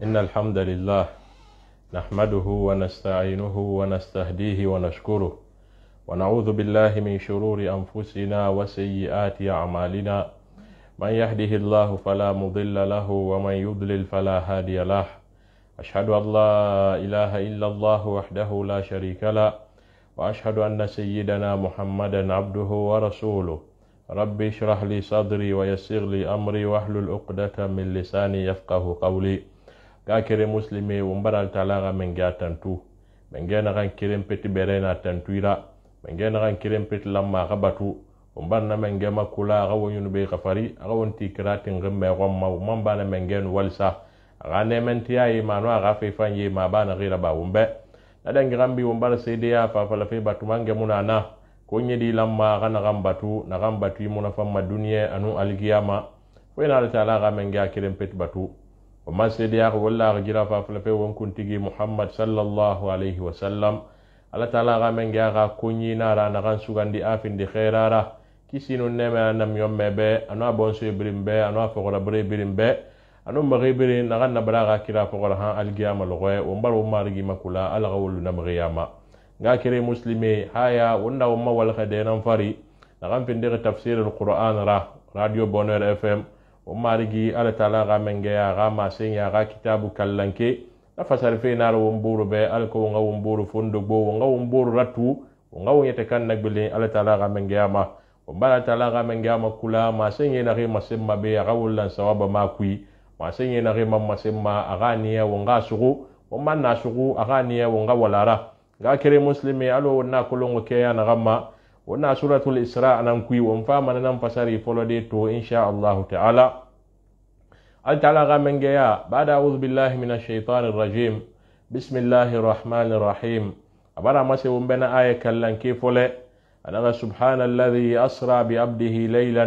إن الحمد لله نحمده ونستعينه ونستهديه ونشكره ونعوذ بالله من شرور أنفسنا وسيئات أعمالنا من يهده الله فلا مضل له ومن يضلل فلا هادي له أشهد أن لا إله إلا الله وحده لا شريك له وأشهد أن سيدنا محمدا عبده ورسوله ربي اشرح لي صدري ويسر لي أمري واحلل عقدة من لساني يفقه قولي كاكري مسلمي ومبرال تلاغا من جا تنتو من جا نغان كريم بيت بيرينا تنتويرا من جا نغان كريم بيت لما غبطو ومبرنا من جا مكولا غو ينبي غفري غو انتي كرات غمي غمما ومبانا من جا والسا غاني من تياي مانوا غافي فاني ما بانا غير با ومبي ندن غامبي ومبر سيديا فافلفي باتو مانجا منانا كوني دي لما غانا غمباتو نغمباتو يمونا فما دنيا أنو القيامة وين على تلاغا من جا كريم بيت باتو وما سيديا والله غجرا فافلفي ونكون تيجي محمد صلى الله عليه وسلم على تلاغا من جا كوني نارا نغان سوغان دي آفين دي خيرارا كيسينو نيما نم يوم بي أنو أبونسو برين بي أنو أفغر بري برين بي أنو مغيبرين نغان نبراغا كرا فغر ها القيامة لغوي ومبر ومارغي مكولا ألغول نمغياما غاكري مسلمي هايا ونا وما والخدينا فري نغان فندق تفسير القرآن راديو بونير FM ومارغي على تلاغا من جيا غاما سينيا غا كتاب كاللانكي نفسر في نار ومبور بي ألكو ونغا ومبور فندق بو ونغا ومبور رتو ونغا ونيتكن نقبلين على تلاغا من جيا ما ومبالا تلاغا من جيا ما كلا ما سيني نغي مسمى بي غاولا سواب ما كوي ما سيني نغي مسمى أغانيا ونغا سغو ومن ناسغو أغانيا ونغا ولارا غاكري مسلمي ألو ونا كلونغ كيا نغما ونا سورة الإسراء نمكوي ومفاما ننفسري فلديتو إن شاء الله تعالى تعالى غامن جيا بعد أعوذ بالله من الشيطان الرجيم بسم الله الرحمن الرحيم أبرا مسي ومبنا آية كاللان كيفولي أنا سبحان الذي أسرى بعبده ليلا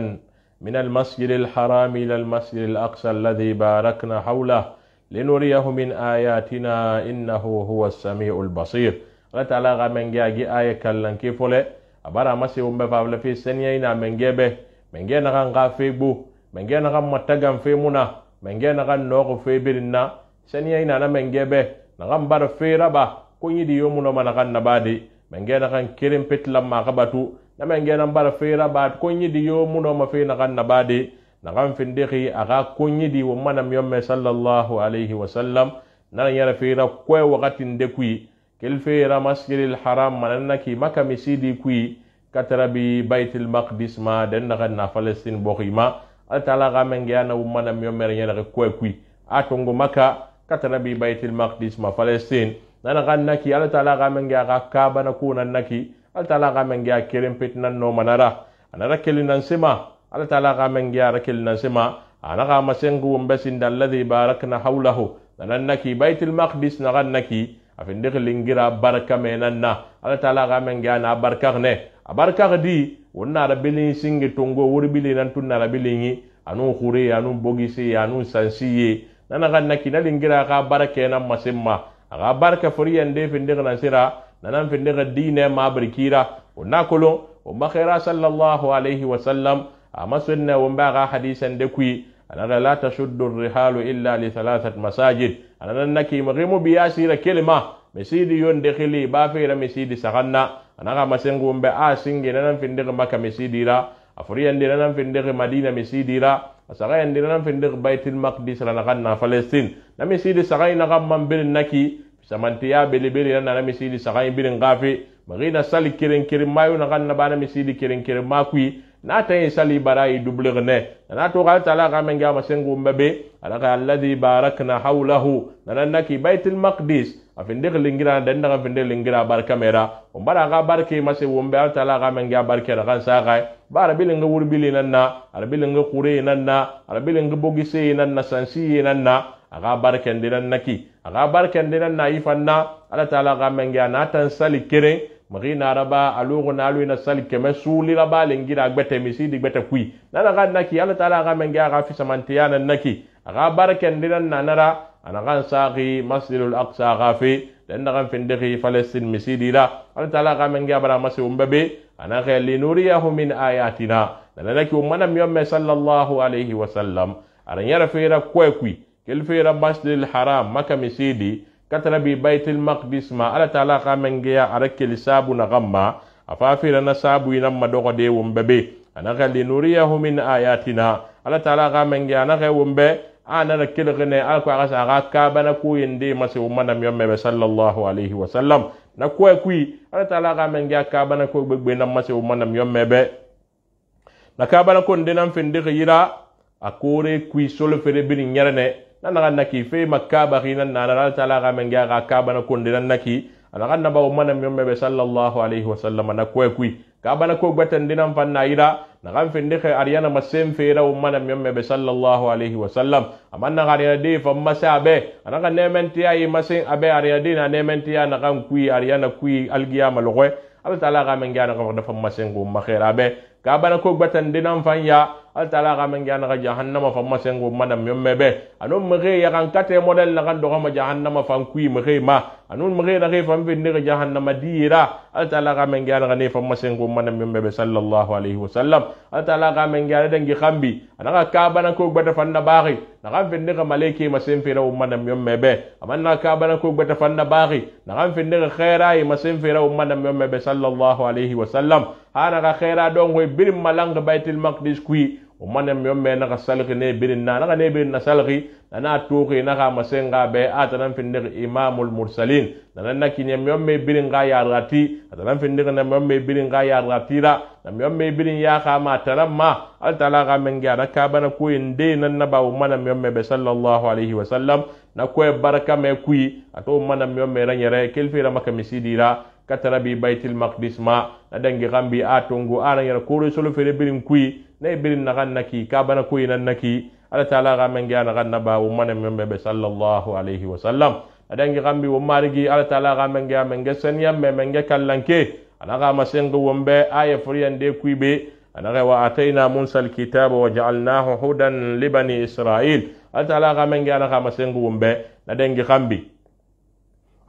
من المسجد الحرام إلى المسجد الأقصى الذي باركنا حوله لنريه من آياتنا إنه هو السميع البصير Allah ta'ala ga men ga gi aya kallan ke fole abara masi umbe fawle fi senya ina men gebe men ge na kan ga febu men ge na kan matagan fe muna men ge na kan no fe birinna senya ina na men gebe na kan bar fe raba ko yidi yomu no mana kan nabadi men ge na kan kirim petlam ma kabatu na men ge na bar fe raba ko yidi yomu no ma fe na kan nabadi na kan findixi aga ko yidi wo manam yomme sallallahu alaihi wasallam na yara fe ra ko wakati ndekui كالفيرا مسجد الحرام مننكي مكة مسيدي كوي كتربي بيت المقدس ما دنغنا فلسطين بوخيما التلاغا من جانا ومنا ميومر ينغ كوي اتونغو مكة كتربي بيت المقدس ما فلسطين نغنكي التلاغا من جانا كابا نكون نكي التلاغا من جانا كريم بيتنا نو منارا انا ركل ننسما التلاغا من جانا ركل ننسما انا غاما سنغو مبسين الذي باركنا حوله ننكي بيت المقدس نغنكي afinde lingira baraka menanna ala taala ga men gana barkagne abarka di wonna rabili singi tongo wurbili nan tunna rabili anu khuri anu bogisi anu sansiye nana ganna kina lingira ka baraka nan masimma aga barka furiyan de finde nan sira nan finde ga dine ma barkira wonna kolo o makhira sallallahu alaihi wasallam ama sunna wamba ga hadisan de kui ana la tashuddu ar-rihalu illa li thalathat masajid ana naki maghimu biyasira kelma mesidi yon dekhili ba feera mesidi saganna ana masengu mbe a singi nan finde maka mesidi ra afriyan de nan finde madina mesidi ra asagayan de nan finde baitul maqdis ra ganna palestine na mesidi sagayna gamman bil naki samantiya belibeli nan na mesidi sagay bil ngafi magina sali kirin kirin mayu na ganna bana mesidi kirin kirin makui na tayi sali barai dubligne na to gal tala ga men ga masengu mbe alaka alladhi barakna hawlahu nan naki baitul maqdis afinde lingira den daga finde lingira barka mera on bara ga barke mase wombe altala ga men ga barke da kan saga bara bilinga wurbili nanna ara bilinga qure nanna ara bilinga bogise nanna sansi nanna aga barke ndiran naki aga barke ndiran na ifanna ala taala ga men ga natan sali kire magina raba alugo na alu ina sali keme suli raba lingira gbete misidi gbete kui nana ga naki ala taala ga men ga fi samantiyana naki aga barke ndiran nanara ana kan saqi masjidul aqsa gafi dan kan findiki palestine misidira Allah taala ka men gabara masu umbabe ana khali nuriyahu min ayatina dan naki umana miyomme sallallahu alaihi wasallam aran yara feera kwekwi kilfira masjidil haram maka misidi katara bi baitul maqdis ma ala taala ka mengeya arakil sabu na gamma afafira na sabu ina madogo de wombebe anaka linuriyahu min ayatina ala taala ka mengeya anaka wombe ana na kilgene alko agasa aga kabana ku yende mase umana miyomme sallallahu alaihi wasallam na kuwa kui ala taala ka mengeya kabana ko gbegbe na mase umana miyomme be na kabana ko ndenan finde yira akore kui solo fere bin nyarane nanaga naki fe makaba khina nana ala taala ka mengeya ka kabana ko ndenan naki anaga naba umana miyomme sallallahu alaihi wasallam na kuwa kui kabana ko gbatan dinan fanna yira nagan finde khe ariyana masem fera umana miyomme sallallahu alaihi wasallam amanna ariyana de fa masabe anaga nementi ayi masen abe ariyana de na nementi ya nagan kui ariyana kui algiyama logwe ala taala ga men gana ko dafa masen go makhira be kabana ko gbatan dinan fanya ala taala ga men gana ga jahannama fa masen go manam miyomme be anon mege ya kan kate model na kan do ma jahannama fan kui mege ma anon mege na ge fam finde ga jahannama dira ala taala ga men gana ga ne fa masen go manam miyomme sallallahu alaihi wasallam ala taala ga men gana dangi khambi anaga kabana ko gbata fanna bari naga finde ga maleke masen fera umana miyomme be amanna kabana ko gbata fanna bari naga finde ga khaira yi masen fera umana miyomme sallallahu alaihi wasallam hana ga khaira don go birim malanga baitul maqdis kui umana miyomme naga salgi ne birin na naga ne birin na salgi nana tuqi naga masenga be atanan finde imamul mursalin nana nakinye miyomme birin ga ya rati atanan finde na miyomme birin ga ya ratira na miyomme birin ya kama taramma al talaga men ga nakabana ko inde nan naba umana miyomme sallallahu alaihi wasallam na ko baraka me kui ato umana miyomme ranyere kelfira maka misidira katara bi baitul maqdis ma na dangi gambi atongo ana yara ko solo fere birin kui ne birin na kannaki kabana ko nan naki ala taala ga men ga na kannaba umana miyomme sallallahu alaihi wasallam na dangi gambi wo marigi ala taala ga men ga sanyam men ga kallanke anaga masengo wombe aya furiyande kuibe anaga wa ataina musa alkitaba wa ja'alnahu hudan li bani israil ala taala ga men ga anaga masengo wombe na dangi gambi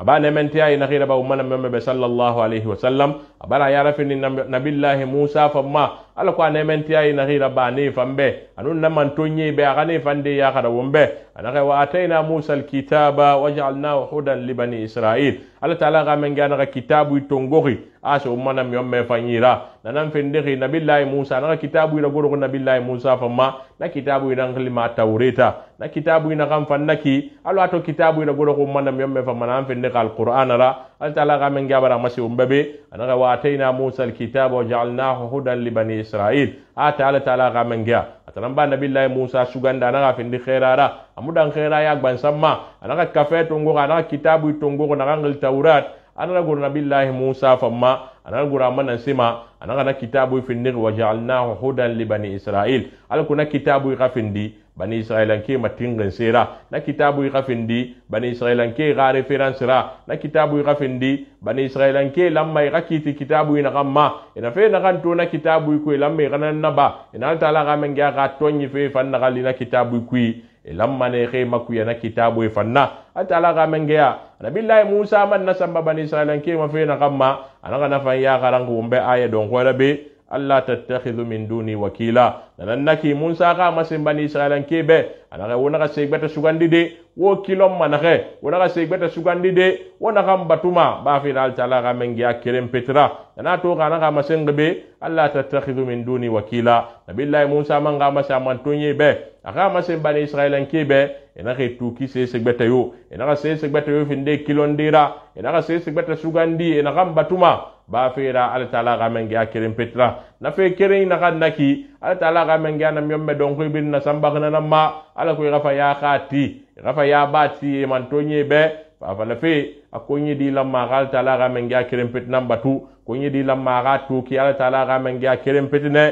abane mentiya ina khira ba umana memme sallallahu alaihi wasallam abara ya rafini nabillahi musa famma ala ko ne mentiya ina khira ba ne fambe anun naman tonye be agane fande ya khara wombe anaka wa ataina musa alkitaba waj'alnahu hudan li bani israil ala taala ga men ga kitabu tongori aso umana memme fanyira nanan fende nabillahi musa na kitabu ina goro nabillahi musa famma na kitabu ina nglima taureta na kitabu ina kan fannaki alo ato kitabu ina goro ko umana memme famma nan fende القرآن را التعالى غامن جابر مسيح ببي أنا واتينا موسى الكتاب وجعلناه هدى لبني إسرائيل تعالى غامن جا أتنبأ نبي الله موسى سجند أنا غافين خيرارا أمودان خيرا يا بن سما أنا كفيت تونغو أنا كتاب تونغو أنا غنغل التوراة أنا نقول نبي الله موسى فما أنا نقول أمنا سما أنا غنا كتاب في النغ وجعلناه هدى لبني إسرائيل أنا كنا كتاب غافين دي bani israelan ke matingin sera na kitabu ikafindi bani israelan ke ga reference ra na kitabu ikafindi bani israelan ke lamma ikakiti kitabu ina kamma ina fe na kanto na kitabu ku lamma kana naba ina taala ga men ga tonyi fe fanna gali na kitabu ku lamma ne ke makuya na kitabu fanna taala ga men ga nabillahi musa man nasamba bani israelan ke ma fe na kamma ana kana fa ya garangu umbe aya don ko rabe Allah tattakhidhu min duni wakila nanannaki Musa ka masin bani Israilan kebe anaka wona ka segbeta sugandi de wo kilom manake wona ka segbeta sugandi de wona kam batuma ba fi dal taala ka mengi akirem petra na to kana ka masin gebe Allah tattakhidhu min duni wakila nabillahi Musa man ga masa man tonye be aka masin bani Israilan kebe ena ke tuki se segbeta yo ena ka se segbeta yo finde kilondira ena ka se segbeta sugandi ena kam batuma ba fera ala taala ga mengi akirim petra na fe kere na kan naki ala taala ga mengi na myomme don ko bin na samba kana ma ala ko gafa ya khati gafa ya bati man tonye be fa fa la fe akonyi di lamma ala taala ga mengi akirim pet namba tu konyi di lamma ga tu ki ala taala ga mengi akirim petne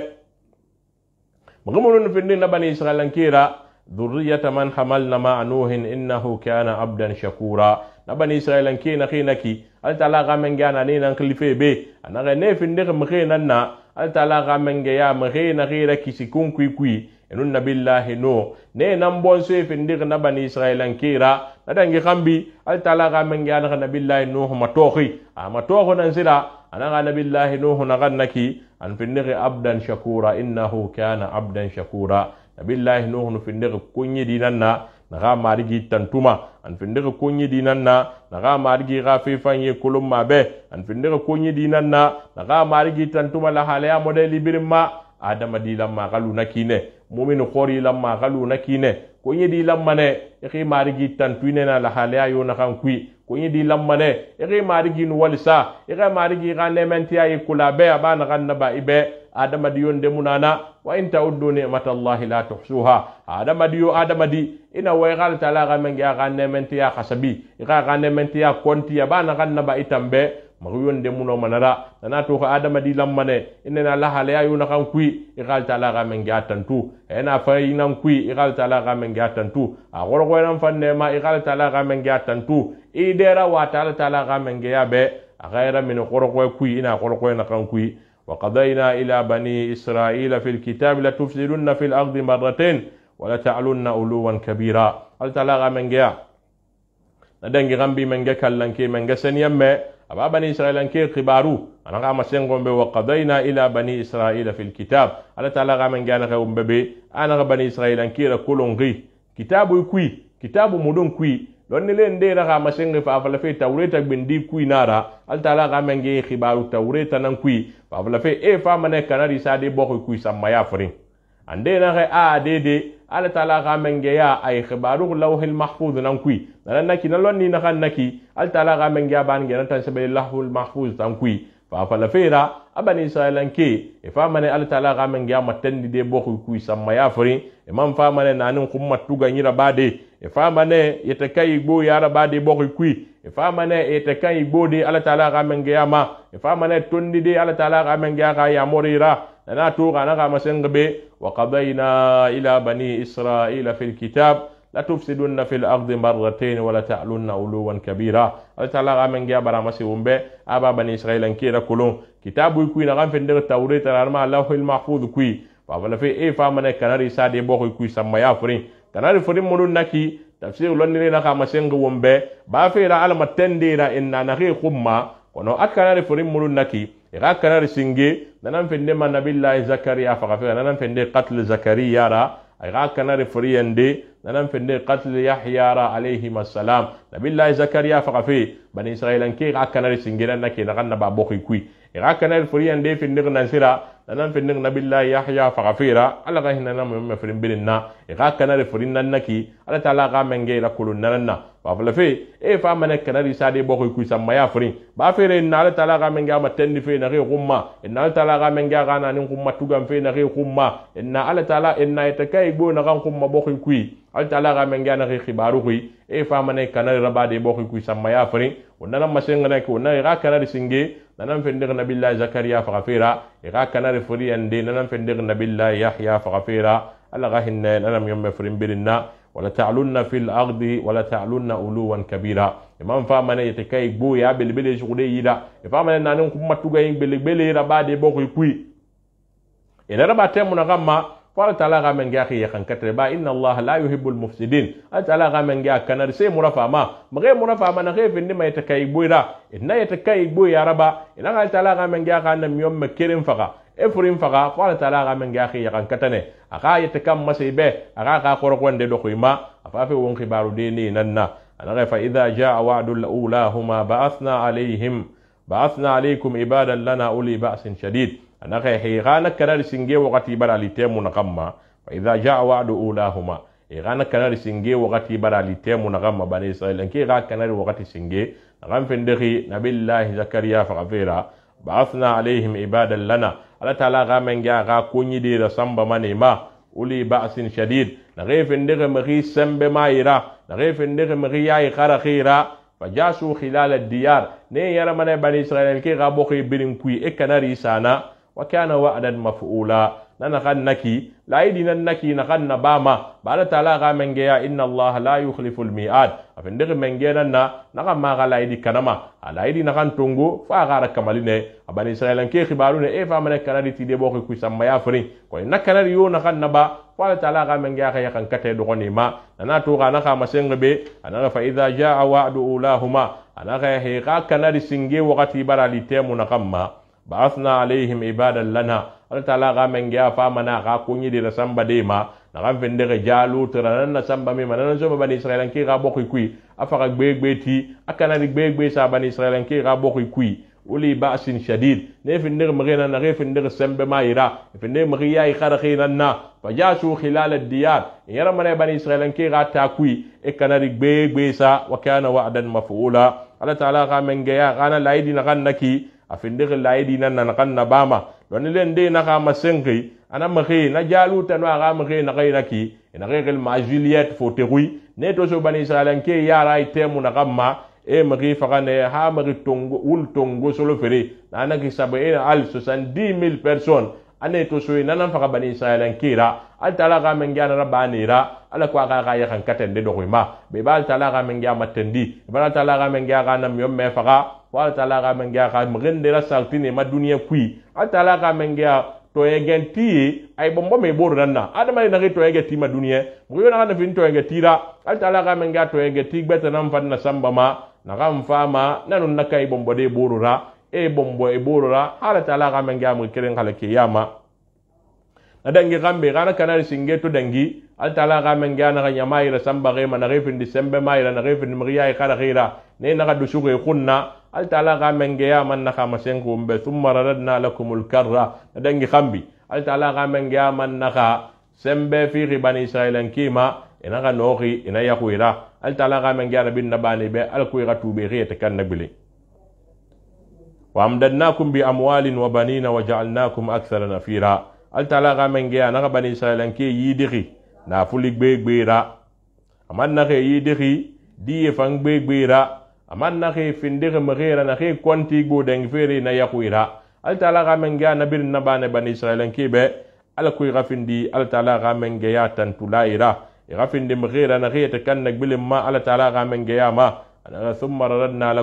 magamun finde na bani israelan kira dhurriyata man hamalna ma nuhin innahu kana abdan shakura na bani israelan ke na khinaki al taala ga men gana ne nan khalife be anaga ne finde ga mkhe nan na al taala ga men ga ya mkhe na ghira kisikun kui enun nabillahi no ne nan bon se finde ga na bani israelan kira na dangi khambi al taala ga men gana nabillahi no matohi amatoho nan sira anaga nabillahi no na gannaki an finde ga abdan shakura innahu kana abdan shakura nabillahi nuhu finde kunyi dinanna naxa marigi tantuma an findixi konyi dinan na naxa marigi xa fe fanye kolonma be an findixi konyi dinan na naxa marigi tantuma lahalaya modeli birin ma adamadi lamma xalu na kine mumini xori lamma xalu na kine konyi di lamma ne ixi marigi tantuine na lahalaya yo naxan kui konyi di lamma ne ixi marigi nu walisa ixi marigi xa nementiya yi kula be aba naxan naba ibe adamadiyo ndemunana wa in ta'uddu ni'matallahi la tuhsuha adamadiyo adamadi ina way xal tala xa menge xa nementiya xasabi ixa xa nementiya kontiya ba naxan naba itambe maxuyo ndemuno manara nana to xa adamadi lammane inena lahalaya yo naxan kui ixal tala xa menge a tantu ena fayinan kui ixal tala xa menge a tantu a xoroxoyenan fan nema ixal tala xa menge a tantu i dera wata ala tala xa mengeya be a xayira mini xoroxoye kui ina xoroxoye naxan kui وقضينا إلى بني إسرائيل في الكتاب لتفسدن في الأرض مرتين ولتعلن علوا كبيرا هل تلاغى من جاء ندنجي غنبي من جاء كالنكي من جاء سنيمة أبا بني إسرائيل أنكي قبارو أنا غام سنغم بي وقضينا إلى بني إسرائيل في الكتاب هل تلاغى من جاء نغم بي أنا بني إسرائيل أنكي ركولون غي كتاب يكوي كتاب مدون كوي lonni len de raga masenge fa fala fe tawreta bindi kui nara al taala ga menge khibaru tawreta nan kui fa fala fe e fa mane kanari sa de bokho kui samma ya frin ande na ga a de al taala ga menge ya ay khibaru lawhil mahfuz nan kui nan naki na lonni na kan naki al taala ga menge ya ban ngena tan sabe lawhul mahfuz tan kui fa fala fe ra abani israelan ke e fa mane al taala ga menge ya matandi de bokho kui samma ya frin e man fa mane nanin kumma tuga nyira bade e fama ne yete kai igbo ya raba de bokhi kui e fama ne yete kai igbo de ala taala ga menge ya ma e fama ne tondi de ala taala ga menge ya ya morira na to ga na ga masengbe wa qadayna ila bani isra'ila fil kitab la tufsiduna fil ardi marratayn wa la ta'lunna uluwan kabira ala taala ga menge ya bara masi umbe aba bani isra'ila kira kulun kitabu kui na gan fende tawreta arma allahul mahfuz kui fa wala fe e fama ne kanari sa de bokhi kui samma ya furin kanari furin munun naki tafsir lonnire na kama senga wombe ba fera alama tendira inna nahi khumma kono akkanari furin munun naki ira kanari singe nanan fende man nabillahi zakariya fa fera nanan fende qatl zakariya ra ira kanari furiyande nanan fende qatl yahya ra alayhi assalam nabillahi zakariya fa fe bani israilan ke ira kanari singe nan naki na kanna ba bokhi kui ira kanari furiyande fende nan sira nanan fende nabillahi yahya fa fera ala ga hinna nam me furin bilinna ira kanari furin nan naki ala taala ga menge la kulun nanna ba fala fe e fa mane kanari sade bokho ku samma ya furin ba fere na ala taala ga menge ma tendi fe na re gumma inna ala taala ga menge ga na nin gumma tugam fe na re gumma inna ala taala inna itakai go na gan gumma bokho ku ala taala ga menge na re khibaru ku e fa mane kanari rabade bokho ku samma ya furin wonna masenga na ko na ga kanari singe nanan fende nabillahi zakariya fa fera ga kanari furi ande nanan fende nabillahi yahya fa fera ala ga hinna nanam yomme furin birinna wala ta'lunna fil ardi wala ta'lunna uluwan kabira imam fa mane yete gbo ya belbele shude yida e fa mane nanin kuma tuga yin belbele rabade bokoi kui ina rabate mun gamma fa ta'ala ga men ga khiya kan katre ba inna allah la yuhibbul mufsidin ta'ala ga men ga kanar sai murafa ma mage murafa ma na khefin ni mai takai gbo ira inna yete gbo ya raba ina ga ta'ala ga men ga kan nam yom kirin faga efurin faga fa ta'ala ga men ga khiya kan katane aka yete kam masibe aka ka korkonde do khima afafe won khibaru de ni nanna ana fa idha jaa wa'dul ulahuma ba'athna alaykum ibadan lana uli ba'sin shadid ana ka highana kanar singe wakati barali temu na kamma fa idha jaa wa'du ulahuma highana kanar singe wakati barali temu na kamma bani israil anki ga kanar wakati singe ngam fendehi nabillahi zakariya fa gafira ba'athna alayhim ibadan lana ala taala ga men ga kunyi de da samba manema uli ba'sin shadid na gefen de mari sembe maira na gefen de mari yayi kharakhira fajasu khilal ad-diyar ne yara mane bani israil ke ga bokhi birin kui e kanari sana wa kana wa'dan maf'ula nana kannaki laidi nan naki na kanna bama bala taala ga menge ya inna allah la yukhlifu al-mi'ad afende menge nan na ga ma ga laidi kanama alaidi na kan tongo fa ga ra kamaline abani israil ke khibaru ne e fa mane kanari ti de bokhi kui samma ya frin ko na kanari yo na kanna ba fa taala ga menge ya kan kate do gonima nana to ga na ka masengbe ana fa idha jaa wa'du ulahuma ana ga he ga kanari singe wakati barali temu na kamma ba'athna alaihim ibadan lana Allah ta'ala ga men ga fa mana ga kunyi de samba de ma naxan fendege Jalut nan na samba me manan so bani Israilan ki ga bokui kui afaka gbegbe ti akana ni gbegbe sa bani Israilan ki ga bokui kui uli ba'sin shadid ne fendege magena na ge fendege sembe mayira fendege magiya i kharakhina na fajasu khilal ad-diyar yara mane bani Israilan ki ga ta kui e kana ri gbegbe sa wa kana wa'dan maf'ula Allah ta'ala ga mengeya kana laidi na kan naki afindege laidi nan na kan na bama don len de na ga masengi ana magi na Jalut no ga magi na gaira ki ina regel ma Juliet foterui ne to so bani Israilan ke yara itemu na gamma e magi fagane ha magi tongo ul tongo solo fere na ki 70,000 personnes ane to so ina nan faga bani Israilan kira al tala ga men gana rabanira ala ko ga ya kan katende do ma be bal tala ga men gya matendi bal tala ga men gya ga nam yom me faga wal tala ga men gya ga mgende ra saltine ma duniya kui al tala ga men gya to yegenti ay bombo me boru nanna adama na to yegenti ma duniya mo yo na na fin to yegenti ra al tala ga men gya to yegenti beta nam fan na samba ma na gam fama nanun nakai bombo de boru ra e bombo e boru ra ala tala ga men gya mo kiren kala kiyama na dangi gambe gana kanari singe to dangi al tala ga men gya na nyama ira samba ge mana refin disembe ma ira na refin mriya e kala gira ne na ga dusu ge kunna al tala ga men gya man na kama sengu mbe thumma radadna lakumul karra na dangi gambi al tala ga men gya man na ka sembe fi bani Israilan kima ina ga nohi ina yahuira al tala ga men gya na bin na bani be al kuira tube ge te kan nabile wa amdadnakum bi amwalin wa banina wa ja'alnakum akthara nafira al tala ga men gya na bani Israilan ke yidiri na fuli gbegbera aman na ke yidiri diye fan gbegbera aman na ke findire magera na ke konti go deng fere na yahuira al tala ga men gya na bin na bani Israilan ke be al kuira findi al tala ga men gya tantulaira ya findi magera na ke te kan nagbile ma al tala ga men gya ma thumma radadna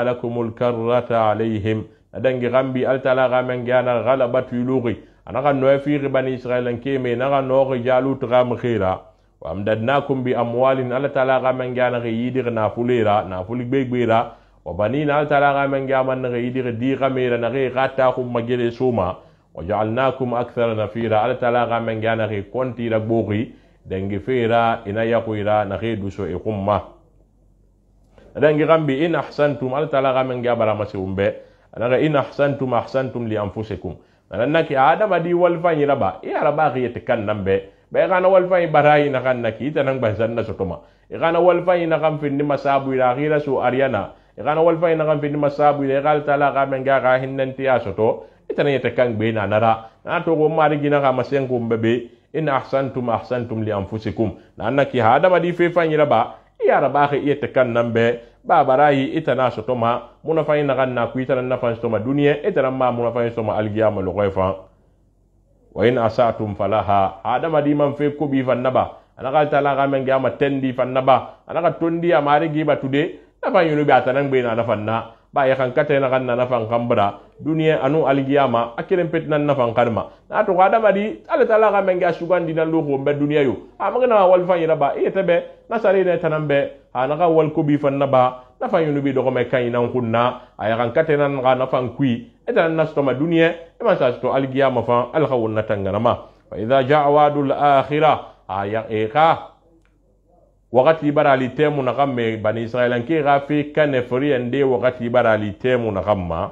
lakumul karrata alaihim adangi gambi al tala ga men gana ghalabatu yulugi anaka no fi bani Israilan ke me naga no Jalut ga mkhira wa amdadnakum bi amwalin al tala ga men gana yidir na fulira na fuli gbegbera wa banina al tala ga men gama na yidir di gamera na ge gata khum magere suma wa ja'alnakum akthara nafira al tala ga men gana ge konti la bogi dangi fera ina yaquira na ge duso e khumma adangi gambi in ahsantum al tala ga men gabara masumbe anaga in ahsantum li anfusikum nanaki adama di walfanyi raba ya raba khiyete kan nambe be kana walfanyi barayi na kan naki tanan bazan na sotoma e kana walfanyi na kan finni masabu ila khira su ariana e kana walfanyi na kan finni masabu ila gal tala ga men ga hinnanti ya soto itanan yete kan be na nara na to go mari gina ga masenko mbebe in ahsantum li anfusikum nanaki adama di fe fanyi raba ya raba khiyete kan nambe ba barayi ita na sotoma muna fayin na ganna ku ita na fan sotoma duniya ita ma muna fayin sotoma algiyama lo koyfa wa in asatum falaha adama di man fe ko bi fan naba anaka tala ga men gama tendi fan naba anaka tondi amari giba tude na fan yunu bi atanan be na fan na ba ya kan kate na ganna na fan kambra duniya anu algiyama akiren petnan na fan karma na to adama di ala tala ga men ga sugandi na lo ko be duniya yo amagana wal fan yira ba ite be na sare ne tanambe anaka wal ko bi fan naba na fan yunu bi do me kay nan kunna aya kan katena nga na fan kui etan nas to ma duniya e ma sa to algiyama fan al khawun natanganama fa idha jaa wadul akhirah aya eka wakati barali temu na kamme bani Israilan ke gafi kane furi ende wakati barali temu na kamma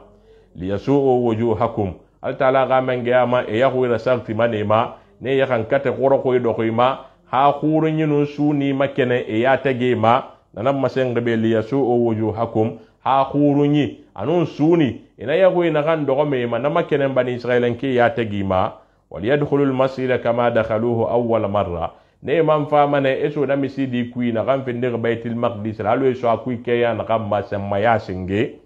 liyasu'u wujuhakum al taala ga menge ama e yahu ila sarti manema ne yakan kate qoro ko do ko ma ha khurun yinu suni makene e ya tage ma nanam masen gabe liyasu'u wujuhakum ha khurun yi anun suni ina yahu ina kan do me ma na makene bani Israilan ke ya tage ma wal yadkhulul masjida kama dakhaluhu awwal marra ne man fa mane eso da misidi kui na kan finde baitul maqdis lalu eso akui ke ya na kan ma semma ya singe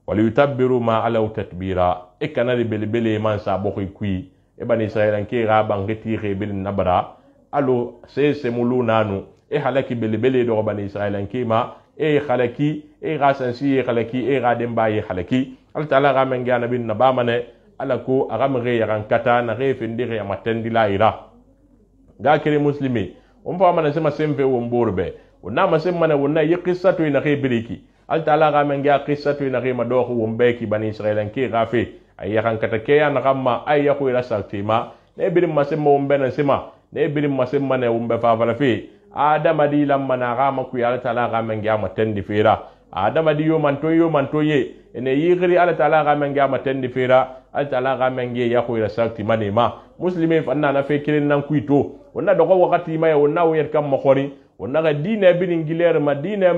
wal yutabbiru ma ala tatbira e kanari belbele man sa bokui kui e bani Israilan ke ga bangeti re bil nabra alo se mulu nanu e halaki belbele do bani Israilan ke ma e halaki e ga sansi e halaki e ga demba e halaki al taala ga men ga nabin na ba mane ala ko aga mre ya kan kata na re finde ya matendi la ira ga kire muslimi fa mana sema semfe wo mborbe wonna ma semma na wonna yi qissatu ina ke biriki al taala ga men ga qissatu ina ke ma do ko wombe ki bani Israilan ke gafe ay kan kata ke ya na kamma ay ya ko ila sartima ne birin masemma wumbe nan sima ne birin masemma ne wumbe fafala fe adama di lamma na ga maku ya taala ga men ga matendi fera adama di yo manto ye ene yigri ala taala ga men ga matendi fera ala taala ga men ge ya ko ira sakti manema muslimi fanna na fe kirin nan kuito wonna dogo wakati ma ya wonna wo yet kam makhori wonna ga dine birin giler ma dine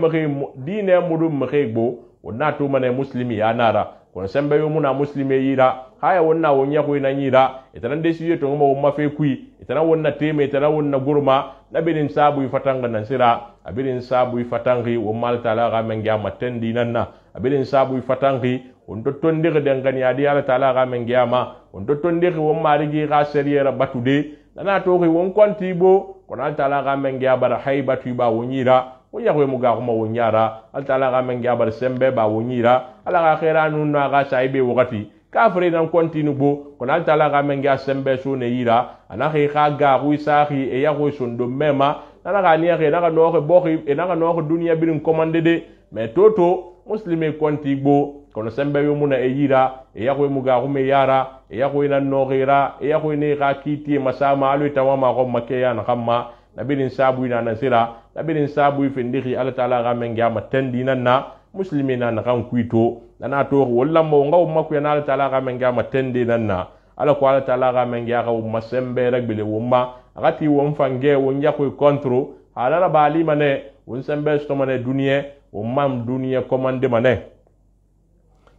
mudum makhegbo wonna to mane muslimi ya nara kono sembe yo muna muslimi yira haya wonna wonya ko ina yira itanan de siye to mo ma fe kui itanan wonna teme itanan wonna gurma nabirin sabu ifatanga nan sira abirin sabu ifatangi wo mal taala ga men ga matendi nanna abirin sabu ifatangi on to tondire de ngani adi ala taala ga men ga ma on to tondire wo marigi ga seriera batude nana to ri won konti bo kono ala taala ga men ga bara haibatu ba wonyira wo yahwe muga kuma wonyara ala taala ga men ga bara sembe ba wonyira ala ga khairanu na ga saibe wakati kafre nan kontinu bo kono ala taala ga men ga sembe so ne yira ana kha ga ru sahi e yahwe sondo mema nana ga niya ke naka no boxi e naka no dunya birin commande de mais toto muslimi konti bo kono sembe yo muna e yira e yahwe muga kuma yara e yahwe nan no gira e yahwe ne ga kiti masama alu tawama ko make ya na kamma nabirin sabu ina nasira nabirin sabu findiki ala taala ga men ga matendi nanna muslimina na kan kuito nana to walla mo ngaw makku ya ala taala ga men ga matendi nanna ala ko ala taala ga men ga masembe ragbele wumma agati won fange won yakwe kontro halala bali mane won sembe sto mane duniye won mam duniye commande mane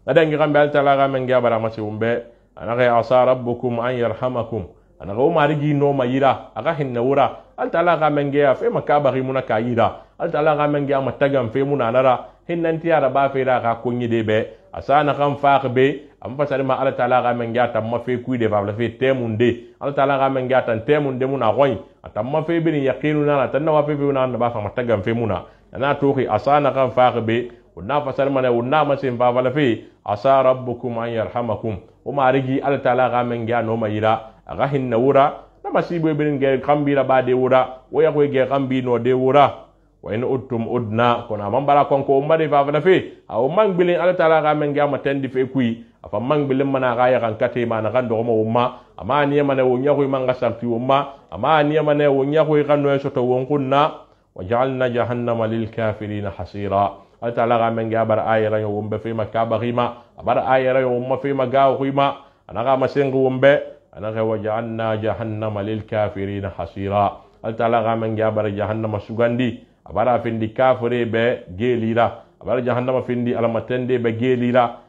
nadangi gambe ala taala ga men ga bara masi wumbe anaka asa rabbukum an yarhamakum anaga o marigi no mayira aga hinna wura al taala ga men ga fe makabari muna kayira al taala ga men ga matagam fe muna nara hinnanti ara ba fe ra ga kunyi de be asana kan faaqbe am fasari ma ala taala ga men ga tamma fe kuide fa fe temunde ala taala ga men ga tan temunde muna goy atamma fe bin yaqinuna na tanna wa fe na ba fa matagam fe muna na toxi asana kan faaqbe wonna fasari ma ne wonna ma sen fa fa fe asa rabbukum an yarhamakum o marigi ala taala ga men ga no mayira aga hinna wura na masibo bin ge kambira ba de wura wo ya ko ge kambi no de wura wa in uttum udna kono amambara konko ummade fa fa fe aw mangbilin ala taala ga men ga matendi fe kui afa mangbilin mana ga ya kan kate ma na kan do mo umma ama ni mana wo nyaako manga sarti umma ama ni mana wo nyaako kan no soto won kunna waj'alna jahannama lil kafirin hasira ala taala ga men ga bar ayira yo wumbe fe makaba rima bar ayira yo umma fe maga rima anaga masengu wumbe anaga waj'alna jahannama lil kafirin hasira ala taala ga men ga bar jahannama sugandi abara findi kafire be gelira abara jahannama findi alamatende be gelira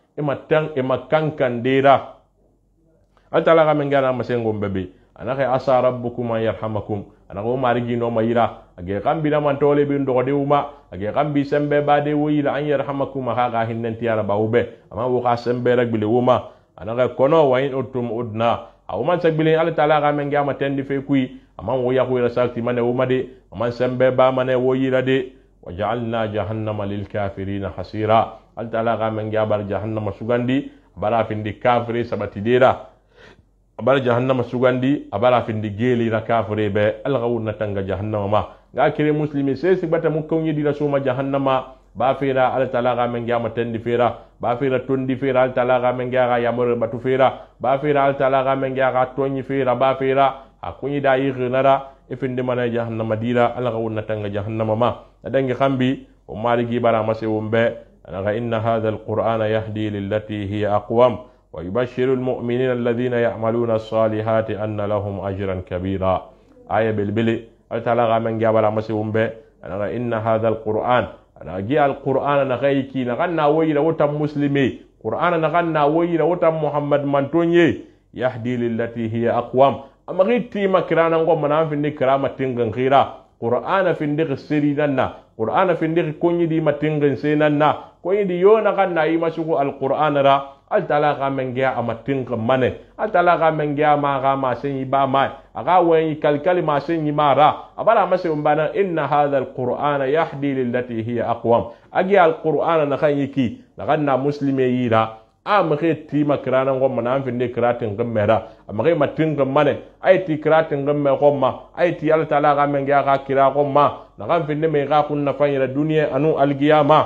imakankan dira altala ga men gara masengo bebe anaka asa rabbukum an yarhamakum anaka o marigi no mayira age kambi na man tole bi ndo de uma age kambi sembe ba de wuyila an yarhamakum ha ga hinnanti ara bawbe ama wo ka sembe rek bile uma anaka kono wa in utum udna aw man sagbile ala taala ga men ga matendi fe kui amman wo yaku ira sakti mane wo made amman sembe ba mane wo yira de waja'alna jahannama lil kafirin hasira al taala ga men ga bar jahannama sugandi bara findi kafire sabati dira bar jahannama sugandi abara findi geli ra kafire be al gawna tanga jahannama ma ga kire muslimi se sibata mu konyi dira suma jahannama ba fira al taala ga men ga matendi fira ba fira tondi fira al taala ga men ga yamur batu fira ba fira al taala ga men ga tonyi fira ba fira akunyi da yi ghinara ifindi mana jahannama dira ala ga wonna tanga jahannama ma adangi khambi o marigi bara mase wumbe anaga inna hadha alqur'ana yahdi lillati hiya aqwam wa yubashshiru almu'minina alladhina ya'maluna as-salihati anna lahum ajran kabira aya bilbili al taala ga men ga bara mase wumbe anaga inna hadha alqur'an ana gi alqur'ana na gayki na ganna wayira wata muslimi qur'ana na ganna wayira wata muhammad mantonye yahdi lillati hiya aqwam amagiti makirana ngo mana findi kirama tingan khira qur'ana findi siri nanna qur'ana findi konyi di matingan se nanna konyi di yona kanna yi masuku alqur'ana ra al talaqa mengia amatinga mane al talaqa mengia ma ga ma sen ba mai aga wen kalkali ma sen mara abara mase umbana inna hadha alqur'ana yahdi lillati hiya aqwam agi alqur'ana na khayiki na ganna muslime yira amake ti makrana ngom na amfinde kratin gemmera amake matin gemmane ay ti kratin gemme gomma ay ti Allah taala ga men ga kira gomma na amfinde me ga kunna fanyira duniya anu alqiyama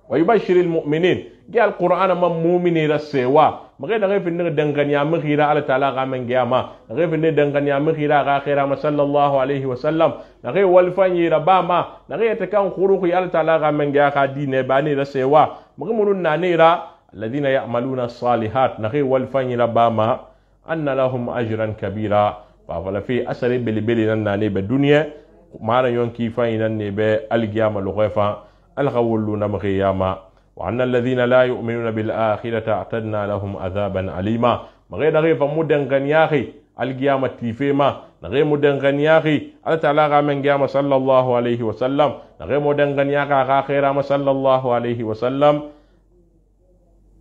wa yubashshirul mu'minin gi alqur'ana man mu'mini rasewa mage na findir danganya mukhira ala taala ga men giyama nage findir danganya mukhira ga khaira ma sallallahu alaihi wasallam nage walfanyi rabama nage ta kan khuruqi ala taala ga men giya ka dine bani da sewa mage munun na ne ra alladhina ya'maluna as-salihat nage walfanyi rabama anna lahum ajran kabira fa wala fi asari bilbili nan na ne be duniya mara yonki fanyi nan ne be algiyama lughafa alghawluna mukhiyama وأن الذين لا يؤمنون بالآخرة أعتدنا لهم عذابا أليما مغي نغي فمدن غنياخي القيامة تيفيما نغي مدن غنياخي على تعالى من قيامة صلى الله عليه وسلم نغي مدن غنياخي خيرا صلى الله عليه وسلم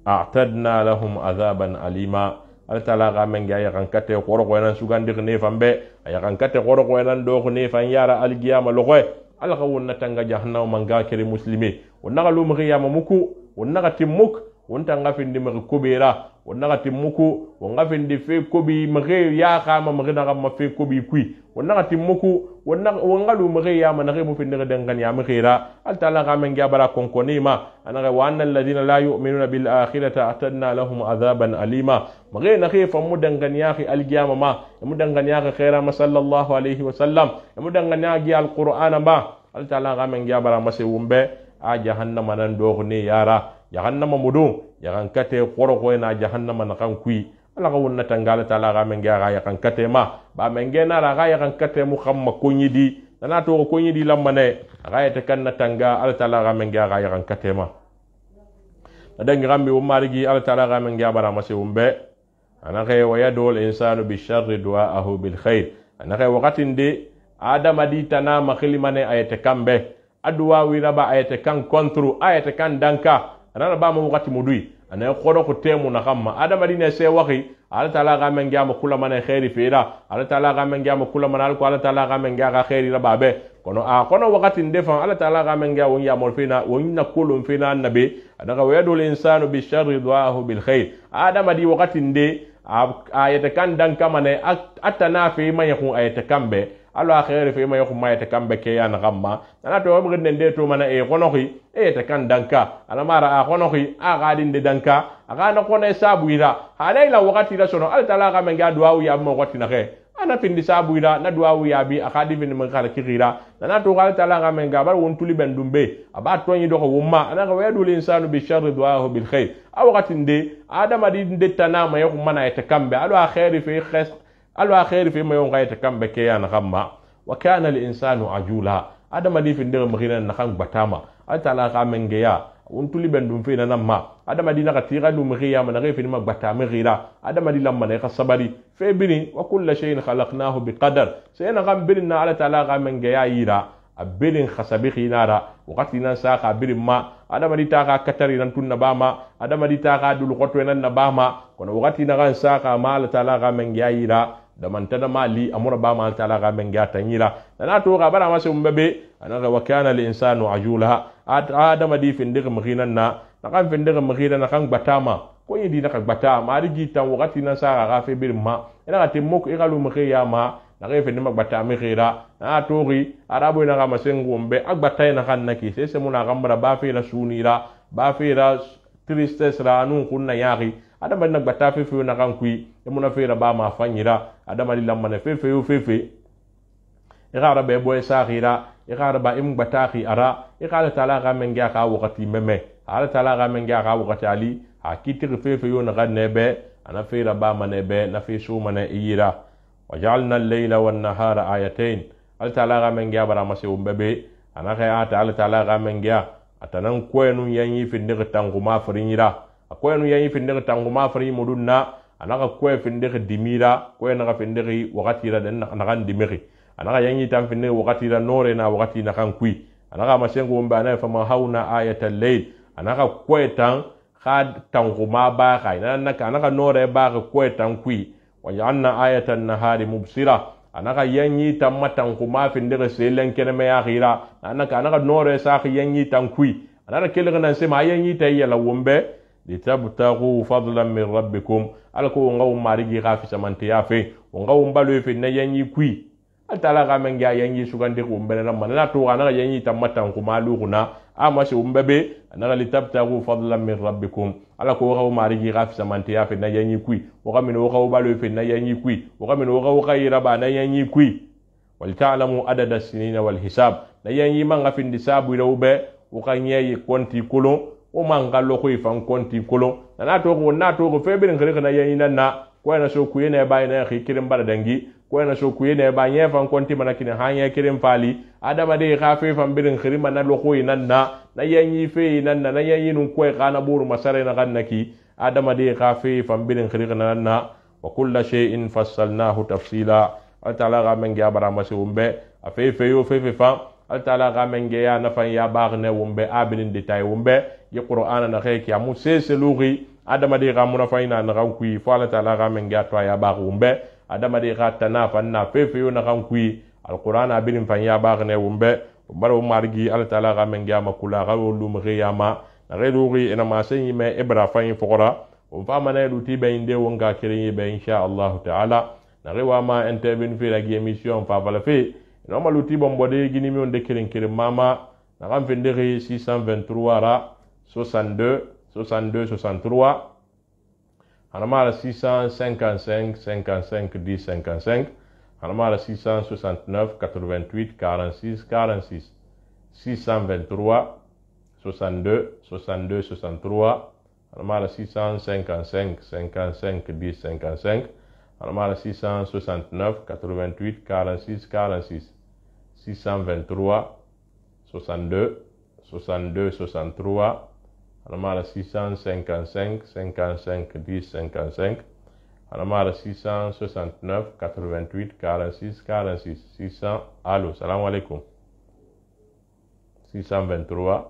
أعتدنا لهم عذابا أليما على تعالى من قيامة كتة قرق وينان سوغان ديغ نيفان بي أيقان كتة قرق وينان دوغ نيفان يارا القيامة لغوي alkhawun natanga jahannama manga kere muslimi wonnaga lu mkhiyama muku wonnaga timmuk wonta ngafindi mkhi kubera wonnaga timmuku wongafindi fe kobi mkhi ya khama mkhi naga ma fe kobi kui wonnaga timmuku wongalu mkhi ya managhi mu finde dangan ya mkhira altala gamen gabara konkonima anaga wa annal ladina la yu'minuna bil akhirati atadna lahum adhaban alima mkhi nakhi famu dangan ya khi alqiyama ma mu dangan ya khaira ma sallallahu alaihi wasallam mu dangan ya alquran ba altala gamen gabara mase wumbe a jahannama nan dogne yara jahannama mudu yakan kate qoroko na jahannama na kan kui ala ga wonna tangala tala ga men ga yakan kate ma ba men ge na ga yakan kate mu khamma konyidi nana to konyidi lamane ga yata kan na tanga ala tala ga men ga yakan kate ma adan gambi o marigi ala tala ga men ga bara mase umbe ana ga wa yadul insanu bi sharri du'aahu bil khair ana ga waqatin de adama di tana makhlimane ayate kambe aduwa wiraba ayate kan kontro ayate kan danka anana ba mu wakati mudui ana khodo ko temu na kamma adama dine se waxi ala taala ga men gama kula man khairi fira ala taala ga men gama kula man alko ala taala ga men ga khairi rababe kono wakati ndefa ala taala ga men ga won ya mol fina won na kulum fina annabi adaga wayadul insanu bi sharri du'ahu bil khair adama di wakati nde ayate kan danka mane atana fi man yakun ayate kambe alo akhere fe mayo kuma yete kambe ke ya na gamma ana to mo gende de to mana e konoxi e te kan danka ana mara a konoxi a gadin de danka aga na kone sabuira halaila wakati la sono al tala ga men ga duwa ya mo wakati na ke ana pindi sabuira na duwa ya bi akadi bin men kala kirira ana to al tala ga men ga bar won tuli ben dumbe aba to nyi do ko wumma ana ga wayadul insanu bi sharri du'ahu bil khair a wakati nde adama di de tanama yo kuma na yete kambe alo akhere fe khas alwa khair fi mayon gaita kambe ke ya na gamma wa kana al insanu ajula adama di fi ndere mkhina na kan batama atala ka menge ya untuli bendum fi na namma adama di na ka tira lu mkhiya ma na fi ma batama gira adama di lamma ne ka sabari fe bini wa kullu shay'in khalaqnahu biqadar sayna gam bilna ala taala ka menge ya yira abilin khasabi khinara wakati nan sa ka birin ma adama di ta ka katari nan tunna bama adama di ta ka dul qoto nan na bama kono wakati na kan sa ka mal taala ka menge ya yira da mantada mali amura ba mal taala ga men gata nyira na to ga bara masu mbebe anaga wa kana al insanu ajula adama di findir mkhinan na kan findir mkhinan na kan batama ko yidi na kan batama mari gitan wakati na sa ga fe bir ma ina ga timmo ko igalu mkhiya ma na ga findir batama khira na to ri arabo na ga masengo mbe agbata na kan naki sese muna gambara ba fe la sunira ba fe la tristesse ra nun kunna yari adama na gbata fefe na kan kui emuna fe ba ma fanyira adama di lamma ne fefe yo fefe igara be boy sakhira igara ba im gbata khi ara igara taala ga men ga ka wakati meme ala taala ga men ga ka wakati ali akitir fefe yo na ganne be ana fe ba ma ne be na fe su ma ne iyira wajalna al-layla wan-nahara ayatayn ala taala ga men ga bara mase umbebe ana ka ata ala taala ga men ga atanan koyenu yanyi fi ndir tanguma farinyira akoy nu yayi finde tanguma fari mudunna anaka koy finde dimira koy na finde wakati ra den na kan dimiri anaka yayi tam finde wakati ra nore na wakati na kan kui anaka masengo mba na fa ma hauna ayatal layl anaka koy tan khad tanguma ba kai anaka nore ba koy tan kui wa janna ayatan nahari mubsira anaka yayi tam matanguma finde selen kene me ya gira anaka nore sa yayi tan kui anaka kelga nan se ma yayi tayya la wombe litabtaghu fadlan min rabbikum alko ngaw marigi gafi samanti yafe ngaw mbalo fe na yanyi kui atala ga men ga yanyi sugande ko mbele na manana to ana yanyi tamatan ko maluguna ama shi umbebe anaga litabtagu fadlan min rabbikum ala ko waxa marigi ga fisamante ya fe na yanyi kui waxa min waxa balo fe na yanyi kui waxa min waxa yiraba na yanyi kui wal ta'lamu adada sinina wal hisab na yanyi man ga fin disabu rawbe waxa nyayi konti kolon o man gallo ko ifan konti kolon na to ko fe bin khiri na yanyi nan na ko na so kuye na ba na khikirin bara dangi ko na so kuye na ba nya fan konti manakine hanya kirin fali adama de ga fe fan birin khiri man na loko nan na yanyi fe nan na yanyi nun ko kana buru masare na gannaki adama de ga fe fan birin khiri nan na wa kullu shay'in fassalnahu tafsila altala ga men ga bara masi umbe afe fe yo fe fa altala ga men ga ya na fan ya bagne umbe abinin detay umbe yi qur'ana na khayki amu seselugi adama de ga muna fayna na kan kui fa altala ga men ga to ya ba umbe adama de ga tana fan na fe fe yo na kan kui alqur'ana abinin fan ya bagne umbe baro margi altala ga men ga makula ga lu mu yama na redugi ina ma sanyi me ibra fan fukura o fa mana luti be inde wonga kirin be insha Allah ta'ala na rewa ma intervene fi la émission fa bala fe no ma luti bombo de gini mi on de kirin mama na kan finde 623 ra 62 63 anama 655 55 10 55 anama 669 88 46 46 623 62 63 anama 655 55 10 55 anama 669 88 46 46 623 62 63 anama 655 55 10 55 anama 669 88 46 46 600 allo salam alaikum 623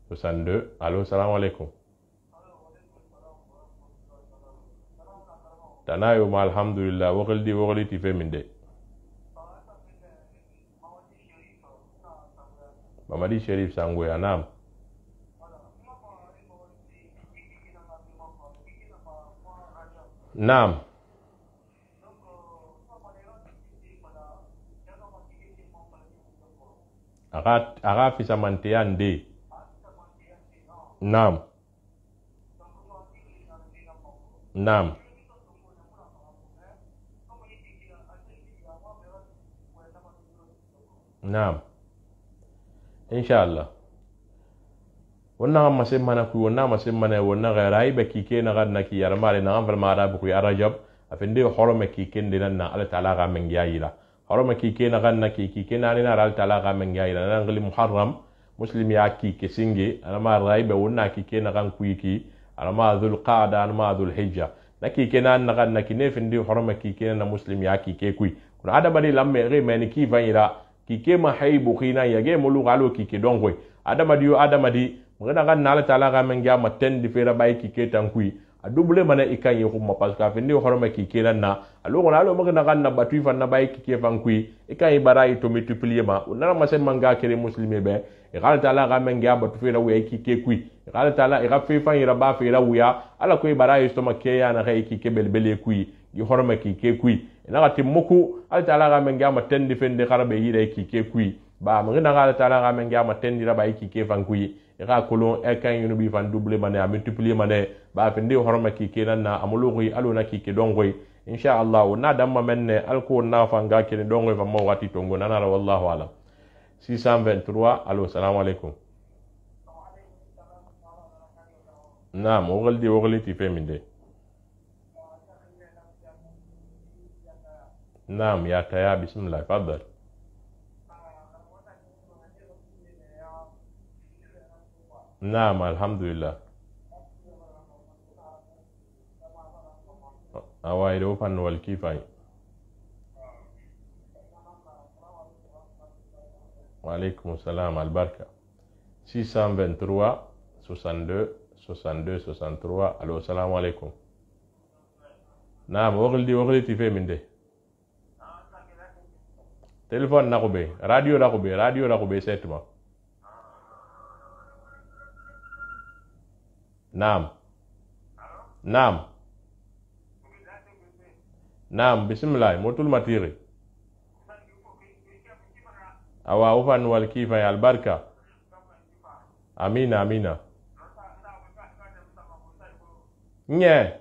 62 allo salam alaikum tanayo ma alhamdulillah wogli ti fe min de Mamadi Sherif Sangwe anam Naam aga fisa mantiyan de Naam Naam Naam inshallah wannan masin mana ku wannan masin mana wannan gairai ba kike na ganna ki yar mare na an farma da ku ya rajab afinde horoma kike ndinan na Allah ta'ala ga men yayila horoma kike na ganna kike na ni na Allah ta'ala ga men yayila nan gali muharram muslim ya kike singe alama raiba wannan kike na gan ku yiki alama dhul qa'da alama dhul hijja na kike na ganna ki ne finde horoma kike na muslim ya kike ku kuna ada bari lamme re men ki vanira kike ma haibu khina yage mulu galo kike dongoy adamadi yo adamadi ngana gan nala taala ga men ga maten di fera bay kike tankui a double mana ikan yi kuma parce que afindi horoma kike nan na alo ngana alo magana gan na batu fan na bay kike fankui ikan yi barai to multiplier ma unana masen manga kere muslime be e gal taala ga men ga batu fera wi kike kui e gal taala e ga fe fan yi raba fera wuya ala ko barai to make ya na ga kike belbele kui gi horoma kike kui ina ga timmuku al taala ga men ga maten di fende kharabe yi re kike kui ba mo ngana ga taala ga men ga maten di raba kike fankui e ga kolon e kan yunu bi fan double mané a multiplier mané ba finde horoma kike nan na amulugi alo na kike dongoy insha Allah na damma menne alko na fanga kene dongoy fa mo wati tongo nanara wallahu alam 623 allo salam alaikum naam wogli ti feminde naam ya taya bismillah fadal naam alhamdulillah awai do fan wal kifai wa alaikum salam albarka 623 62 62 63 allo salam alaikum naam wogli ti fe minde téléphone na ko be radio la ko be setma naam bismillah motul matiri awa ufan wal kifa ya albarka amina amina nye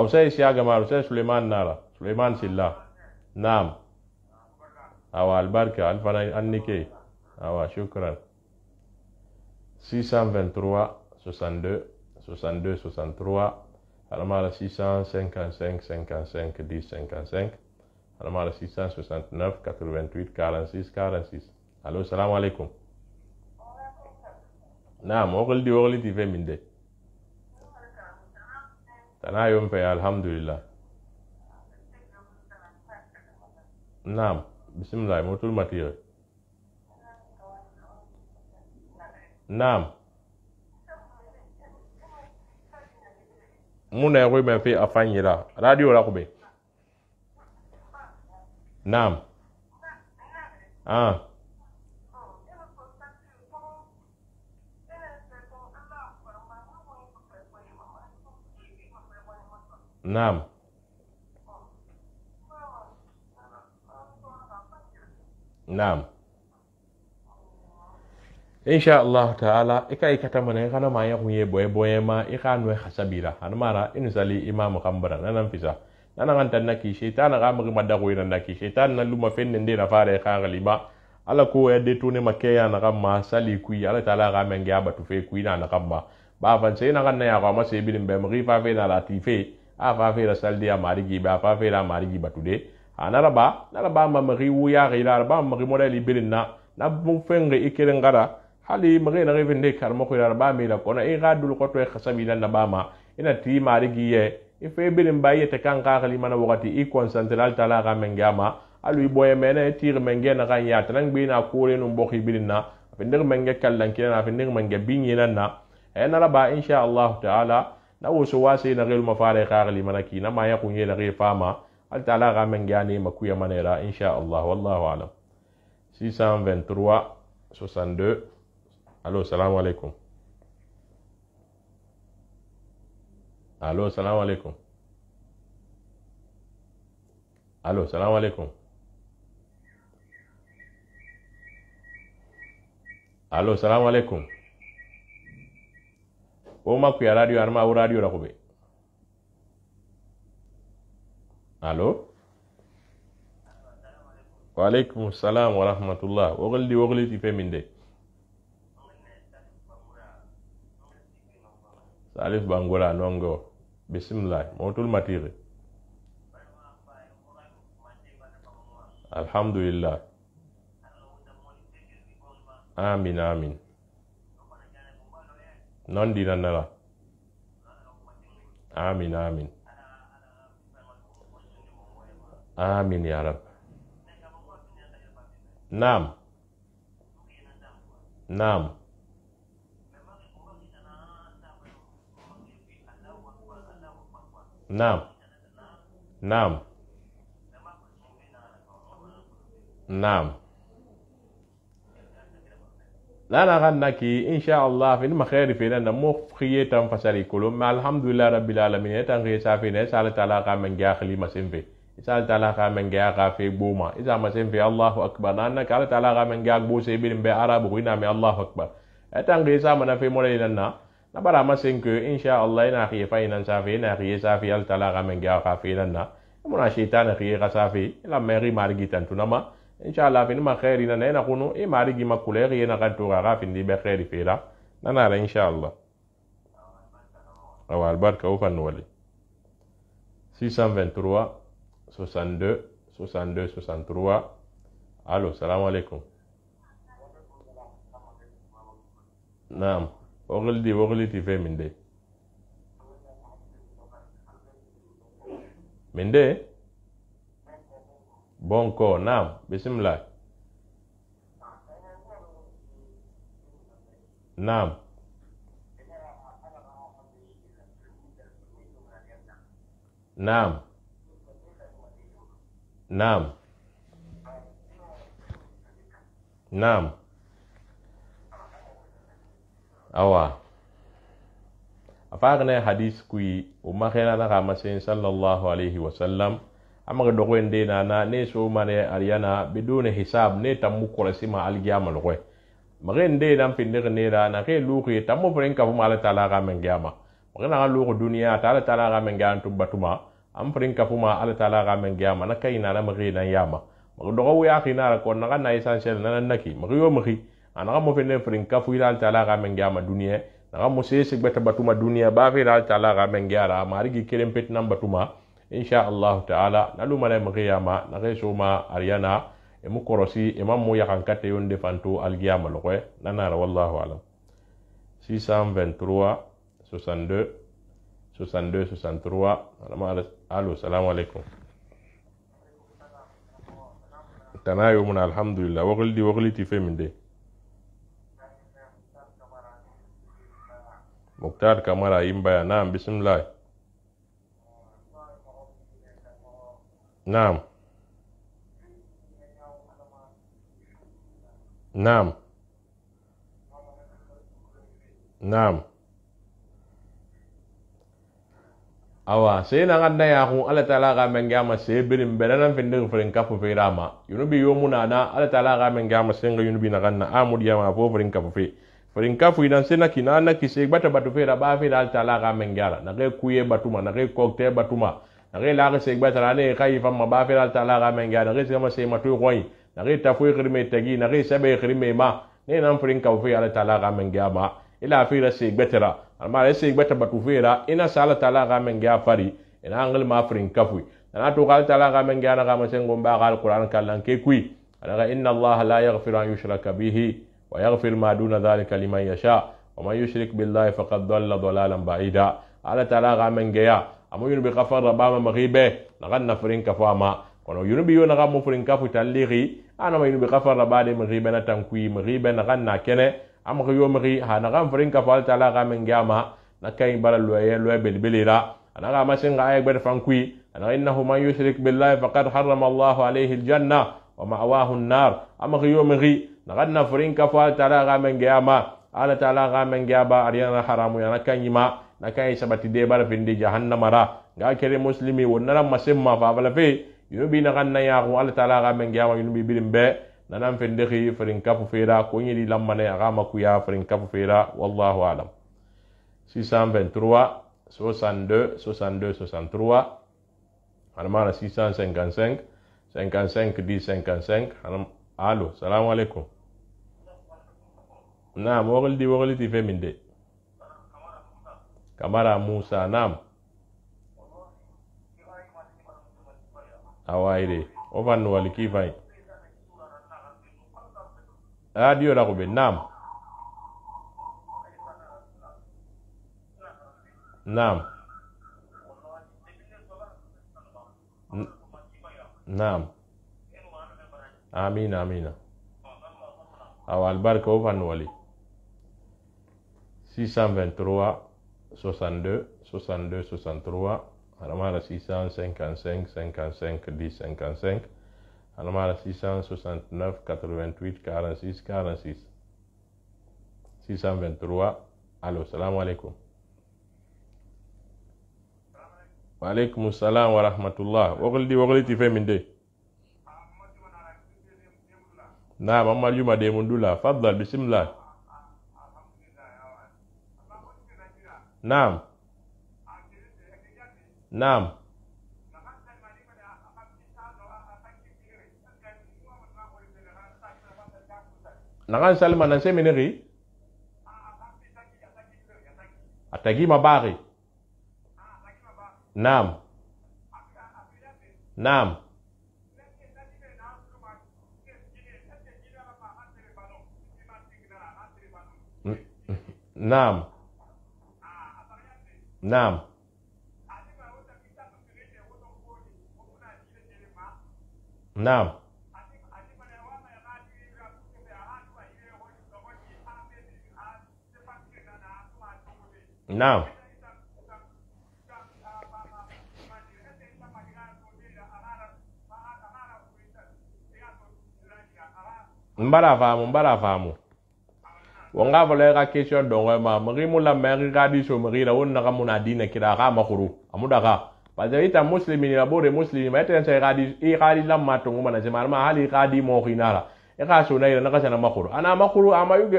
usai siyaga mara usai Suleiman nara Suleiman silla naam awa albarka alfana annike awa shukran 623 62 62 63 alamara 655 55 10 55 alamara 669 88 46 46 allo salamu alaikum naam wogoldi ti fe min de tana yom fe alhamdulillah naam bismillah motul matire naam muna yakoy me fe afanyira radio la kube naam naam naam insha Allah taala ikai kata mana kana ma ya kunye boye ma ikanu hasabira hanmara insali imam khambara nanan fisa nanan antan naki shaytan ga mu madago ina naki shaytan nan luma fenne nde na fare ka galima ala ko ya de tune makeya na gamma sali kuyi ala taala ga men ga batu fe kuyi na gamma ba fan sai na ganna ya ga ma sai bilin be mu fa fe na latife a fa fe la saldi ya marigi ba fa fe la marigi batude anaraba naraba ma mari wuya gira ba mari modeli bilin na bu fenge ikirin gara hali mari na revende karmo ko yarba mi la kona e gadul ko to e khasabi nan bama ina ti marigi ye ife bilin baye te kan ka khali mana wakati i concentral tala ga mengama alu boye mena tir menge na kan ya tan gbe na ko re no mbokhi bilin na fendir menge kallan kina fendir menge binyi nan na e naraba insha Allah taala na woso wase na gel mafare ka khali mana ki na ma ya kunye na ge fama al taala ga mengani makuya manera insha Allah wallahu alam 623 62 allo salamu alaikum allo salamu alaikum allo salamu alaikum allo salamu alaikum o makuya radio arma o radio la kobe allo wa alaikum salam wa rahmatullah wogli ti fe min de Salif Bangura nongo bismillah motul matire alhamdulillah amin amin non dina nala amin amin amin ya rab naam naam naam naam naam lana ganna ki insha Allah fin ma khairi fi nan mo khiye tam fasari kulum ma alhamdulillah rabbil alamin tan ge safi ne sala taala ka men ga khali masimbe sala taala ka men ga ka fe buma iza masimbe Allahu akbar nan ka taala ka men ga bo se bin be arabu ina me Allahu akbar tan ge sa mana fe mo le nan na bara masin ke insha Allah ina khiye fa ina safi ina khiye safi al taala ka men ga ka fe nan na mona shaytan khiye ka safi la meri margi tan tunama inshallah fin ma khairi na na kunu e mari gi makule ri na kan to ga fin di be khairi fira nana ra inshallah awal barka o fan wali 623 62 62 63 allo salam alaikum naam wogli ti fe minde bonko naam bismillah naam naam naam naam awa afagne hadis kui umma khana na kama sallallahu alaihi wasallam amaga dogo ende na ne so mane ariana bidune hisab ne tammu ko sima algiyama lokoy magin de dan finde ne ra na ke luqi tammo furin kafu ma Allah taala ga men gama magana ga luqu duniya ta Allah taala ga men gan tubatuma am furin kafu ma Allah taala ga men gama na kai na magi dan yama magdo ya khina ra ko na na essentiel nan naki magiyo magi ana mo finde furin kafu ila Allah taala ga men gama duniya na mo se beta batuma duniya ba fi Allah taala ga men gyara marigi kelen pet nan batuma insha Allah taala nalu mala magiyama na ke soma ariana e mu korosi e mam mo yakan kate yonde fanto algiyama lokwe nanara wallahu alam 623 62 62 63 allo salamu alaikum tanayo mun alhamdulillah wogli ti feminde Mukhtar Kamara Imbaya naam bismillah naam naam naam awa sai na ganda ya hun Allah taala ga men gama sai birin beranan findin furin kafu fe rama yunubi yomuna na Allah taala ga men gama sai ga yunubi na ganna amudi ya ma fo furin kafu fe furin kafu idan sai na kina na ki sai bata batu fe da ba fe da Allah taala ga men gyara na ga kuye batuma na ga kokte batuma na ga la ga sai bata ne kai fa ma ba fe da Allah taala ga men gyara na ga sai ma sai matu koyi na ga tafu khirme tagi na ga sabe khirme ma ne nan furin kafu fe Allah taala ga men gyama ila fi ra sai betara amma da sai bata batu fera ina sala taala ga men ga fari ina angal ma frin kafu na to gal taala ga men ga na ga ma sen gomba gal qur'an kallan ke kui daga inna allaha la yaghfiru an yushraka bihi wa yaghfir ma duna dhalika liman yasha wa man yushrik billahi faqad dhalla dhalalan ba'ida ala taala ga men ga ya amu yun bi ghafar rabama maghibe na ganna frin kafu ama kono yun bi yo na ga mo frin kafu tallighi ana ma yun bi ghafar rabade maghibe na tankui maghibe na ganna kene am ko yomri ha na gam frin ka fal taala ga men gama na kay balal loye belbelira ana ga masin ga ay ber fankui ana innahu man yushrik billahi faqad harrama Allah alayhi aljanna wa ma'wahu an-nar am ko yomri na ganna frin ka fal taala ga men gama ala taala ga men gaba ariyana haramu ya na kanyima na kay sabati de bar findi jahannama ra ga kere muslimi wonara masimma fa bala fe yobi na ganna ya ko ala taala ga men gama yunubi bilimbe nanan fendexi ferin kafu fera ko ñidi lammane axa makuya ferin kafu fera wallahu alam 623 62 62 63 hanamana 655 55 10 55 allo salamu alaikum naam wogli ti fe min de Kamara Musa naam awayde o fannu wali ki fay radio la kobe naam naam naam amina awal barka o fan wali 623 62 62 63 alamara 655 55 10 55 alamara 669 88 46 46 623 allo salamu alaikum wa alaikum salam wa rahmatullah wogli ti fe min de na mamma juma de mundula faddal bismillah naam naam nagan salma nan seminary atagi mabari naam naam naam naam naam naam mbara famu wonga vole ga question dongo ma mari mulla mari ga di so mari la wonna ga muna dina kira ga makuru amuda ga bazalita muslimin la bore muslimin ma tan sai ga di lamma to nguma na jama'a ma hali ga di mo khinara ka so na ira na kasana makuru ana makuru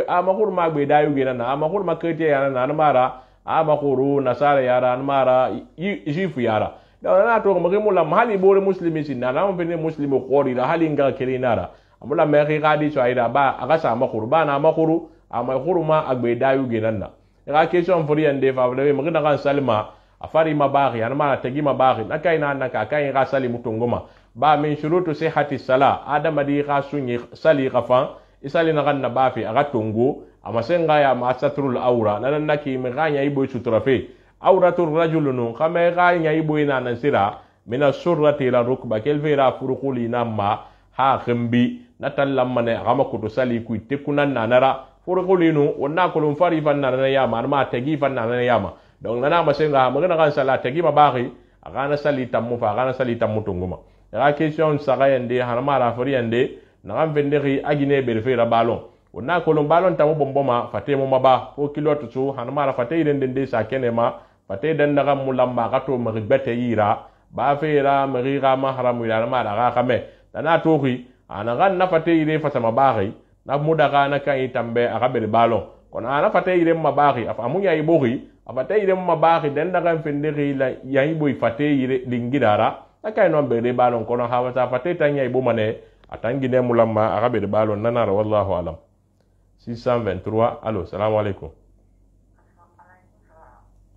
makuru ma gbe da yuge na makuru makete yana na mara makuru nasara yara mara jifu yara da na to mo mu la hali bore muslimi sin na mun fene muslimi qori la hali nga kelinara amula me ga di so ida ba aga sa makuru ba na makuru makuru ma agbe da yuge nan na ga question for yande fa le mo ga kan salma afari mabaghi ana mara tagi mabaghi na kai na ka kai ga sali mutunguma ba min shurutu sihhati sala adama di ga sunyi sali qafan isali na ganna ba fi aga tungu amasenga ya masatrul awra nan naki mi ganya ibo sutrafe awratur rajulun kama ganya ibo ina nan sira min as-surrati ila rukba kelvera furuquli namma ha khimbi natallamma ne gama kutu sali ku tekunan nanara furuqulinu wonna kulun fari fanna na yama ma tagi fanna na yama donc nana masenga magana kan sala tagi mabaghi aga na sali tammu fa aga na sali tammu tunguma ya question saga yande hanama ra fari yande na kan venderi agine berfera balon wonna kolon balon tamu bomboma fate mo maba fo kilotu su hanama ra fate irende de sa kenema fate dan daga mulamba gato magbete yira ba fera mariga mahramu ya ma daga kame dana tohi anagan na fate ire fata mabaghi na mudaga na kan itambe aga ber balon kono ana fate ire mabaghi afamunya ibogi afate ire mabaghi dan daga venderi la yayi boy fate ire lingidara akai non bere balon kono hawata fate tanya ibo mane atangine mulamma aga ber balon nanara wallahu alam 623 allo salam alaikum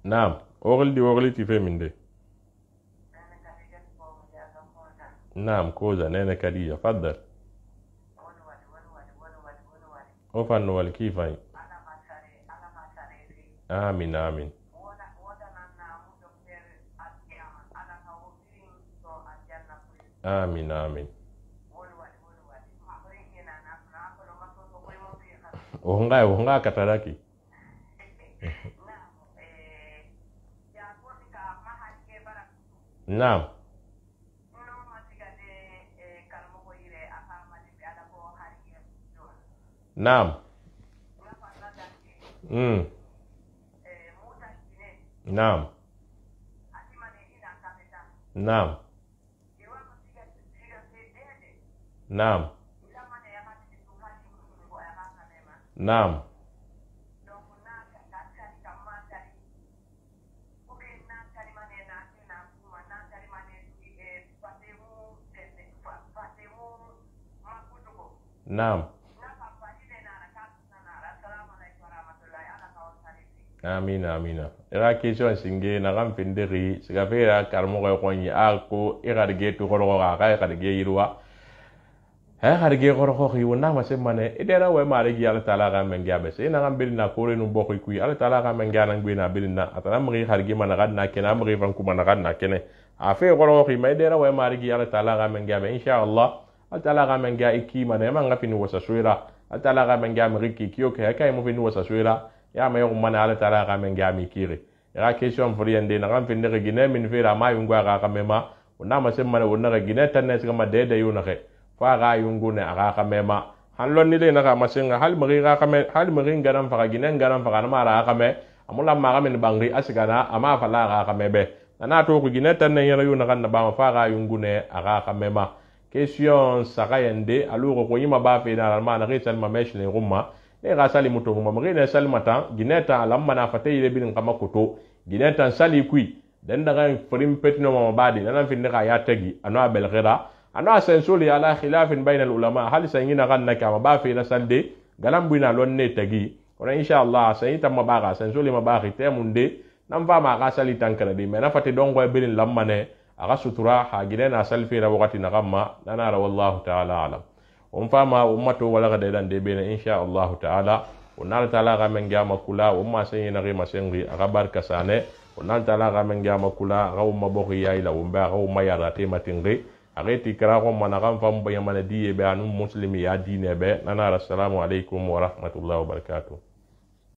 naam ogli ti fe minde naam koza nene kadija faddal ofan wal kifai amin amin amin amin Ohunga kataraki. Naam. Naam. Naam. Naam. Naam. Naam. Naam. Amina amina. Ira question singe na gam findiri siga fera karmo ko nyi ako igarge to ko ga garge yirwa harge goro ko wona ma se mane idera we mari gi Allah taala ga men gabe se na gam bilna ko renu bokku ku Allah taala ga men gana ngwina bilna atana mari harge man ga na kena mari fan ku man ga na kene afi goro ko mai idera we mari gi Allah taala ga men gabe insha Allah Allah taala ga men ga iki mane man ga fini wasa suira Allah taala ga men ga mari ki kiyo ke kai mo fini wasa suira ya ma yo man Allah taala ga men ga mi kire ira question for yende na gam finde gine min fira ma yungwa ga mema wona ma se mane wona ga gine tanne se ma de yuna ke fa ga yungu ne aga kamema hanlon ni le na ga masinga hal mari ga kame hal mari ngaram fa gine ngaram fa na mara kame amula ma ga men bangri asigana ama fa la ga kamebe na to ku gine tan ne yara yuna kan na ba ma fa ga yungu ne aga kamema question saka yende alugo ko yima ba fe na ma na gisal ma mesh ne rumma ne ga sali muto ma mari ne sal mata gine ta lamma na fa tay le bin kama koto gine tan sali kui den daga frim petno ma badi nan fin ne ga ya tagi anwa bel ghira ana sensuli ala khilafin bainal ulama hal sayina ganna kama ba fi nasalde galam buina lonne tagi ora insha Allah sayita mabaga sensuli mabagi temunde nam fa ma ga sali tankara di mena fati dongo e bilin lammane aga sutura ha gidena salfi ra wakati na gamma nana wallahu ta'ala alam fa ma ummato wala ga dan de bena insha Allah ta'ala onal ta'ala ga men gama kula umma sayina ri masengi aga barka sane onal ta'ala ga men gama kula ga umma bogi yaila umba ga umma yara te matingi ageti kara ko managam fam bayamana diye be anu muslimi ya dine be nana assalamu alaikum wa rahmatullahi wa barakatuh